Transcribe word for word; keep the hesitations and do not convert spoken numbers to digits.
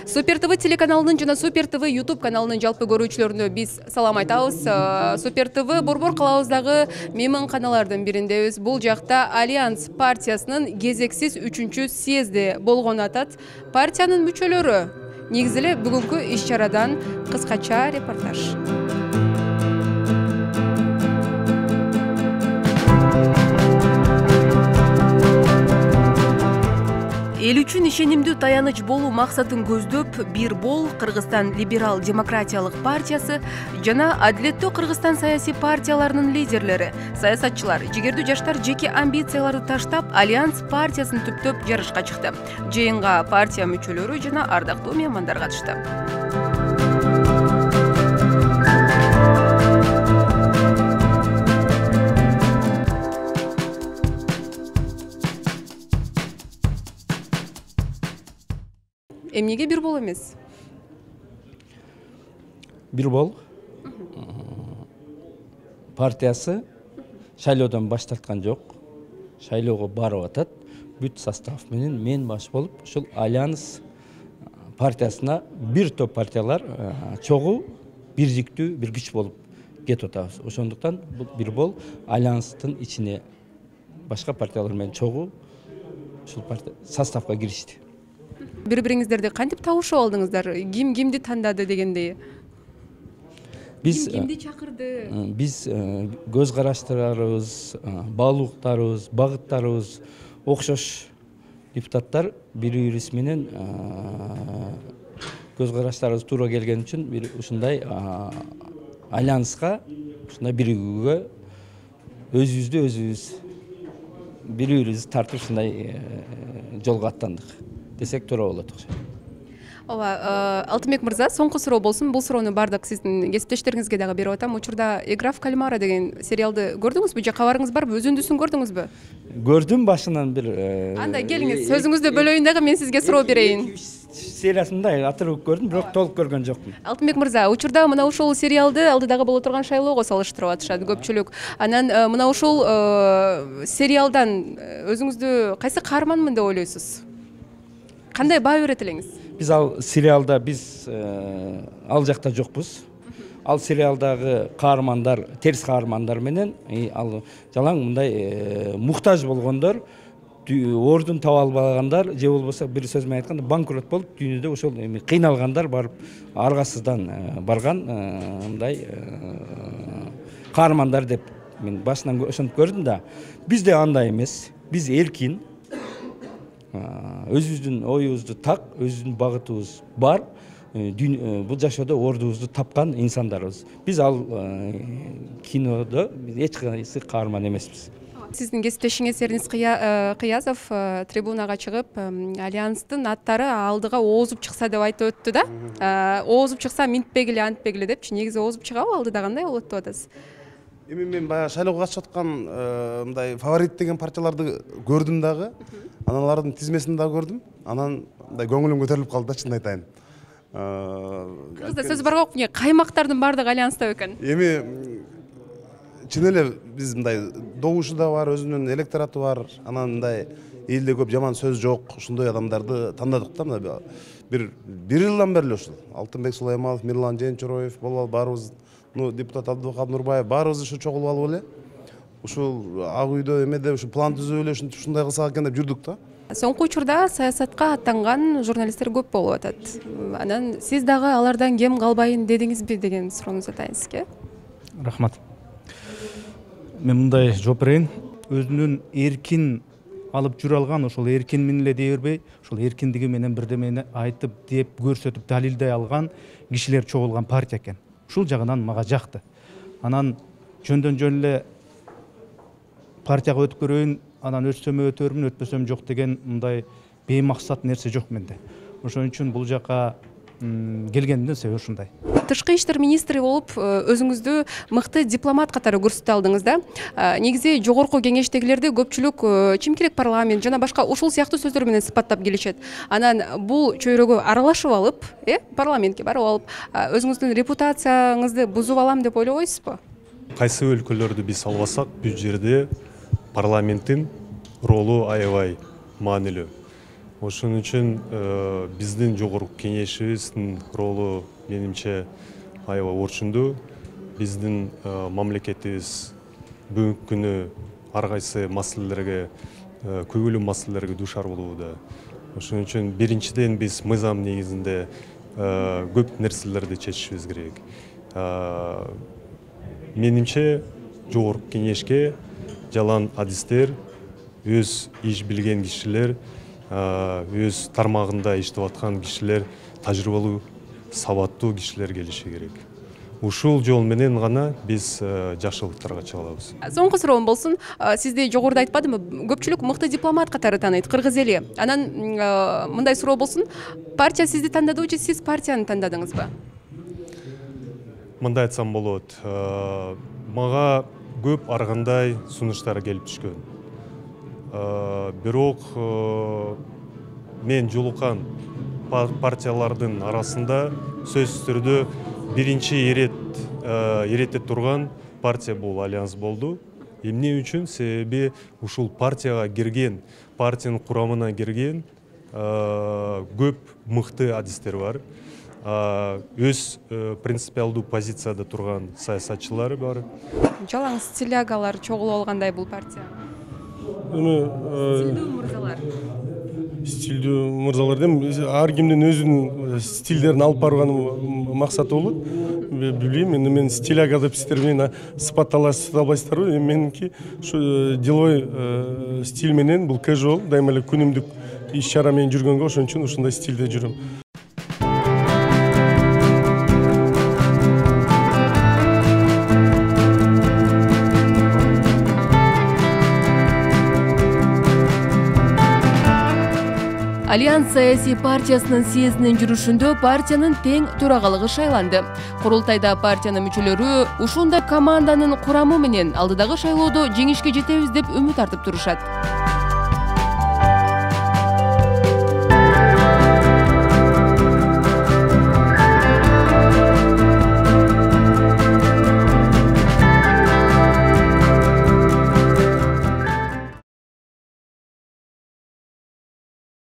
Супер ТВ телеканалынын жана Супер ТВ YouTube каналынын жалпы көрүүчүлөрүнө биз салам айтабыз. Супер ТВ Борбор калабыздагы мейманканалардын бириндебиз. Бул жакта Альянс партиясынын кезексиз үчүнчү съезди болгон атат. Партиянын мүчөлөрү негизи эле бүгүнкү иш-чарадан кыскача репортаж. Эл үчүн ишенимдүү таяныч болуу максатын көздөп, Бир бол Кыргызстан либерал демократиялык партиясы жана Адилеттүү Кыргызстан саясий партияларынын лидерлери, саясатчылар, жигердүү жаштар жеке амбицияларды таштап, Альянс партиясын түптөп жарышка чыкты. Жыйынга партия мүчөлөрү жана ардактуу меймандар катышты. Эмнеге Бир бол эмес? Бир бол партиясы шайлоодон баш тарткан жок. Шайлоого барып атат. Бүт состав менен мен баш болуп, ушул Альянс партиясына бир топ партиялар чогуу бирдиктүү бир күч болуп кетип атабыз. Ошондуктан бул Бир бол Альянстын ичине башка партиялар менен чогуу ушул партия составга киришти. Бири-бириңиздерди кантип табышып алдыңыздар? Ким кимди тандады дегендей? Биз Ким кимди чакырды? Биз көз караштарыбыз, баалуулуктарыбыз, багыттарыбыз окшош депутаттар бири-бирибиз менен көз караштарыбыз туура келген үчүн бир ушундай альянска, ушундай биригүүгө өзүбүздү өзүбүз бири-бирибизди тартып ушундай жолго аттандык десек туура болот окшойт. Ооба, Алтынбек мырза, соңку суроо болсун. Бул суроону бардык сиздин кесиптештериңизге дагы берип атам. Учурда «Игра в кальмара» деген сериалды көрдүңүзбү же кабарыңыз барбы? Өзүндүсүн көрдүңүзбү? Көрдүм башынан бир. Анда келиңиз, сөзүңүздү бөлөйүн дагы мен сизге суроо берейин. Сериясында атырып көрдүм, бирок толук көргөн жокмун. Алтынбек мырза, учурда мына ушул сериалды алдыдагы боло турган шайлоого салыштырып атышат көпчүлүк. Анан мына ушул сериалдан өзүңүздү кайсы каарманмын деп ойлойсуз? Кандай баа берет элеңиз? Биз ал сериалда биз ал жакта жокпуз. Ал сериалдагы каармандар, терс каармандар менен ал жалаң мындай муктаж болгондор, ордун таба албагандар же болбосо бир сөз менен айтканда банкрот болуп, дүйнөдө ошол эми кыйналгандар барып аргасыздан барган мындай каармандар деп мен башынан ошентип көрдүм да. Биз де андай эмес. Биз эркин, өзүбүздүн оюбузду так, өзүбүздүн багытыбыз бар, бул жашоодо ордубузду тапкан инсандарбыз. Биз ал кинодо эч кайсы каарман эмеспиз. Сиздин кесиптешиңиз Эрнис Кыязов трибунага чыгып, Альянстын аттары алдыга оозуп чыкса деп айтып өттү да. Оозуп чыкса минтпегиле, антпегиле депчи. Негизи оозуп чыгабы, алдыда кандай болот деп атасыз? Эми мен баягы шайлоого катышып аткан мындай фаворит деген партияларды көрдүм дагы. Анан алардын тизмесин дагы көрдүм. Анан мындай көңүлүм көтөрүлүп калды да, чынын айтайын. Кыргызда сөз бар го, каймактардын баардыгы Альянста экен. Эми чын эле биз мындай добушу да бар, өзүнүн электораты бар. Анан мындай элде көп жаман сөз жок, ушундай адамдарды тандадык да. Мына бир бир жылдан бери эле ушул Алтынбек Сулайманов, Мирлан Женчороев болуп баарыбыз, ну депутат Абдыбакат Нурбаев баарыбыз ушу чогулуп алып эле ушул ак үйдө эмеде ушу план түзүп эле ушундай кылсак экен деп жүрдүк да. Соңку учурда саясатка аттанган журналисттер көп болуп атат. Анан сиз дагы алардан кем калбайын дедиңизби деген суроону атайын сизге. Рахмат. Мен мындай жооп берейин. Өзүнүн эркин алып жүрө алган, ошол эркин менен эле дей бербей, ошол эркиндиги менен бирдемени айтып, деп, көрсөтүп, далилдей алган кишилер чогулган партия экен. Ушул жагынан мага жакты. Анан жөндөн жөн эле партияга өтүп көрөйүн, анан өтсөм өтөрмүн, өтпөсөм жок деген мындай беймаксат нерсе жок менде. Ошон үчүн бул жака келгендин себеби ушундай. Тышкы иштер министри болуп, өзүңүздү мыкты дипломат катары көрсөтө алдыңыз да. Негизи жогорку кеңештегилерди көпчүлүк чимкирек парламент жана башка ушул сыяктуу сөздөр менен сыпаттап келишет. Анан бул чөйрөгө аралашып алып, э, парламентке барып алып, өзүңүздүн репутацияңызды бузуп алам деп ойлобойсузбу? Кайсы өлкөлөрдү биз албасак, бул жерде парламенттин ролу аябай маанилүү. Ошон үчүн биздин жогорку кеңешибиздин ролу менимче аябай орчундуу. Биздин мамлекетибиз бүгүнкү күнү ар кайсы маселелерге, көйгөйлүү маселелерге дуушар болууда. Ошон үчүн биринчиден биз мыйзам негизинде көп нерселерди чечишибиз керек. Менимче жогорку кеңешке жалаан адистер, өз иш билген кишилер, өз тармагында иштеп аткан кишилер, тажрыйбалуу, сабаттуу кишилер келиши керек. Ушул жол менен гана биз жакшылыктарга чыга алабыз. Соңку суроом болсун. Сизди жогоруда айтпадымбы? Көпчүлүк мыкты дипломат катары тааныйт, кыргыз эли. Анан мындай суроо болсун. Партия сизди тандадыбы же сиз партияны тандадыңызбы? Мындай айтсам болот. Мага көп ар кандай сунуштар келип түшкөн. Бирок мен жолуккан партиялардын арасында сөзсүз түрдө биринчи ирет иретте турган партия бул Альянс болду. Эмне үчүн? Себеби ушул партияга кирген, партиянын курамына кирген көп мыкты адистер бар. Өз принципиалдуу позицияда турган саясатчылар бар. Жалаң стилягалар чогулуп алгандай бул партия. Стилдүү мырзалар. Стилдүү мырзалар дем ар кимдин өзүнүн стилдерин алып барган максаты болот. Билбейм, эми мен стиляга деп сиздер менен сыпатталасыз албайсыздарбы? Меники ушу деловой стиль менен бул casual, дайыма эле күнүмдүк иш чара менен жүргөнгө ошон үчүн ушундай стилде жүрөм. Альянс саясий партиясынын съездинин жүрүшүндө партиянын тең төрагалыгы шайланды. Курултайда партиянын мүчөлөрү ушундай команданын курамы менен алдыдагы шайлоодо жеңишке жетебиз деп үмүт артып турушат.